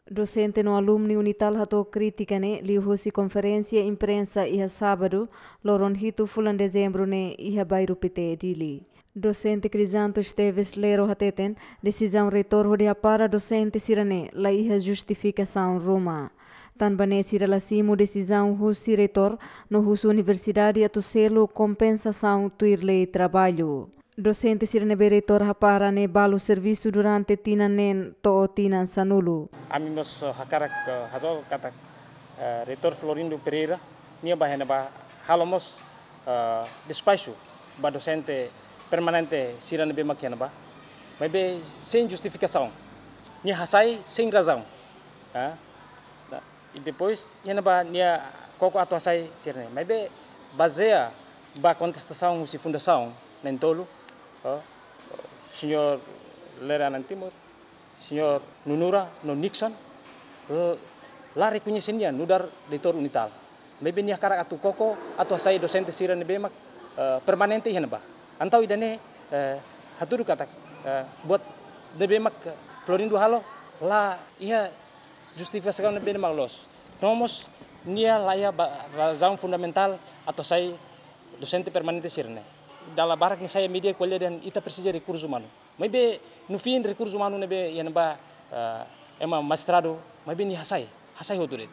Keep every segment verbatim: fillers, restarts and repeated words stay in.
Dosente no alumni Unital hato'o krítika ne'e liuhusi konferénsia imprensa iha sábadu, loron hitu fulan dezembru ne'e iha Bairru Pité, Dili. Dosente Crisanto Esteves Lero hateten, desizaun reitór hodi hapara dosente sira-ne'e la iha justifikasaun ruma. Tanba ne'e sira la simu desizaun husi reitór, no husu universidade atu selu kompensasaun tuir lei traballu. Dosente sira ne'ebé reitór hapara ne'e balu servisu durante tinan neen to'o tinan sanulu. Ami mós, eh, hakarak, eh, hato'o katak, eh, Reitór Florindo Pereira, nia ba iha ne'ebá halo mós, eh, despaxu ba dosente permanente sira ne'ebé mak iha ne'ebá. Maibé sein justifikasaun. Nia hasai sein razaun. Ah, nah, i depois, iha ne'ebá nia koko atu hasai sira-ne'e. Maibé bazeia ba kontestasaun husi fundasaun na'in-tolu, oh, señór Lere Anan Timur, señór Nunura no Nixon, l-, la rekoñese nia nu'udar reitór Unital. Maibé nia hakarak atu koko, atu hasai dosente sira ne'ebé mak, eh, permanente iha ne'ebá. Entaun ida-ne'e, eh, hatudu katak, eh, buat ne'ebé mak Florindo halo, la iha justifikasaun ne'ebé mak loos. No mós nia la iha ba-, razaun fundamentál atu hasai dosente permanente sira-ne'e. Dala barak nia sai média ko'alia dehan ita presiza rekursu umanu. Maibé no fim rekursu umanu ne'ebé iha ne'ebá, eh, ema mestradu, maibé nia hasai, hasai hotu de'it.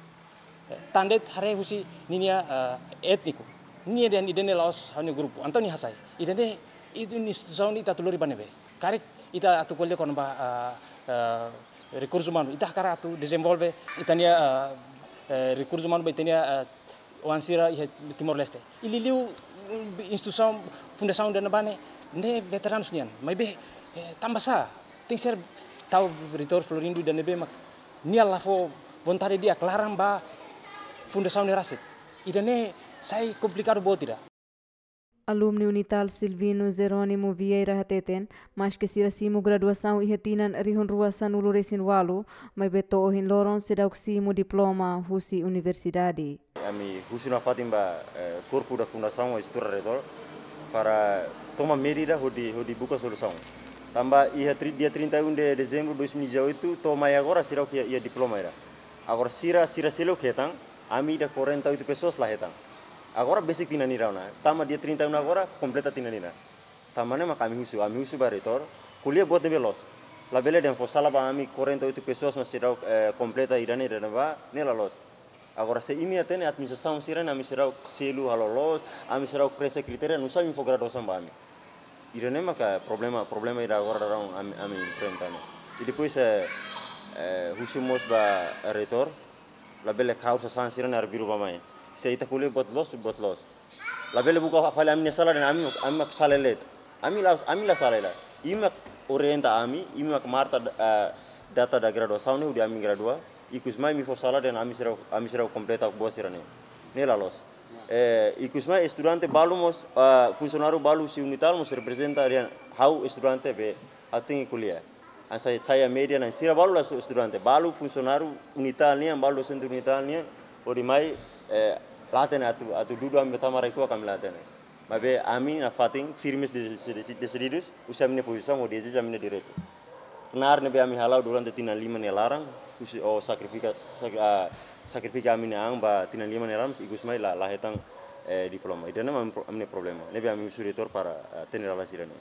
Eh, tan de'it haree husi ninia, eh, étniku. Nia dehan ida-ne'e la'ós ha'u-nia grupu. Entaun nia hasai. Ida-ne'e, ida-ne'e instituisaun ita atu lori ba ne'ebé. Karik ita atu ko'alia kona-ba, eh, eh, rekursu umanu. Ita hakarak atu dezenvolve ita-nia, eh, eh, rekursu umanu ba ita-nia, eh, oan sira iha Timor-Leste. I liuliu, mm, instituisaun, fundasaun ida-ne'ebá ne'e, ne'e veteranus nian. Maibé, eh, tanbasá tenke ser tau Reitór Florindo ida ne'ebé mak nia la fó vontade di'ak, laran ba fundasaun ne'e rasik. Ida-ne'e sai komplikadu boot ida. Alumni Unital Silvino Jerónimo Vieira hateten, maske sira simu graduasaun iha tinan rihun rua sanulu resin ualu, maibé to'o ohin loron seidauk simu diploma husi universidade. Ami husu nafatin ba, eh, korpu da fundasaun ou estrutura reitór para toma medida hodi, hodi buka solusaun. Tanba iha tri-, dia trinta e um de dezembro de dois mil e dezoito, to'o mai agora seidauk iha, iha diploma ida. Agora sira, sira seluk hetan, ami ida quarenta e oito pessoas la hetan. Agora besik tinan ida ona, tama dia trinta e um agora, kompleta tinan ida. Tanba ne'e mak ami husu, ami husu ba reitór, ko'alia buat ne'ebé loos. Labele dehan fó sala ba ami quarenta e oito pessoas mak seidauk, eh, kompleta ida-ne'e, ida-ne'ebá, ne'e la loos. Agora se imi hatene administrasaun sira-ne'e ami seidauk selu halo loos, ami seidauk preenxe kritéria, nusá imi fó graduasaun ba ami. Ida-ne'e maka problema, problema ida agora daudaun ami, ami enfrenta ne'e. I depois, eh, eh, husu mós ba reitór, labele kaur sasán sira-ne'e arbiru ba mai. Se ita ko'alia buat loos, buat loos. Labele buka fali ami-nia sala dehan ami, ami mak sala de'it. Ami la, ami la sala de'it. Imi mak orienta ami, imi mak marka, eh, data da graduasaun ne'e hodi ami gradua. Ikus mai imi fó sala dehan ami seidauk, ami seidauk kompleta buat sira-ne'e. Ne'e la loos. Eh, ikus mai estudante balu mós, ah, funsionáriu balu husi Unital mós reprezenta dehan ha'u estudante be, ha'u tenke ko'alia. Hanesan sai média ne'e sira balu la estu-, estudante, balu funsionáriu Unital nian, balu dosente Unital nian, hodi mai, eh, la hatene atu, atu dudu ami tama rai-kuak ami la hatene. Maibé ami nafatin firmes de, de, desididus, husi ami-nia pozisaun hodi ezije ami-nia direitu. Knaar ne'ebé ami hala'o durante tinan lima nia laran, husi, ou sakrifika, sak-, ah, sakrifika ami-nia an ba tinan lima nia laran, ikus mai la, la hetan, eh, diploma. Ida-ne'e mak ami pro-, ami-nia problema. Ne'ebé ami husu reitór para, eh, hatene dalan sira-ne'e.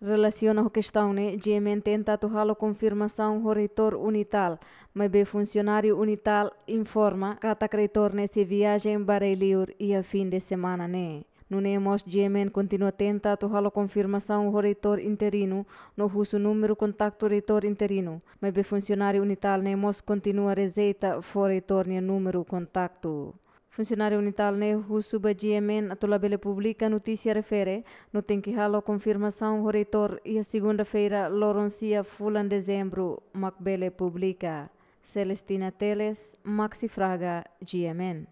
Relasiona ho kestaun ne'e, GMN tenta atu halo konfirmasaun ho reitór Unital, maibé funsionáriu Unital informa katak reitór ne'e sei viajen ba rai-liur iha fin de semana ne'e. Nune'e mós GMN kontinua tenta atu halo konfirmasaun ho reitór interinu, no husu númeru kontaktu reitór interinu, maibé funsionáriu Unital ne'e mós kontinua rejeita fó reitór nia númeru kontaktu. Funsionáriu Unital ne'e husu ba GMN atu labele publika notísia refere, no tenke halo konfirmasaun ho reitór iha segunda-feira, loron sia fulan dezembru, mak bele publika. Celestina Teles, Maxi Fraga, GMN.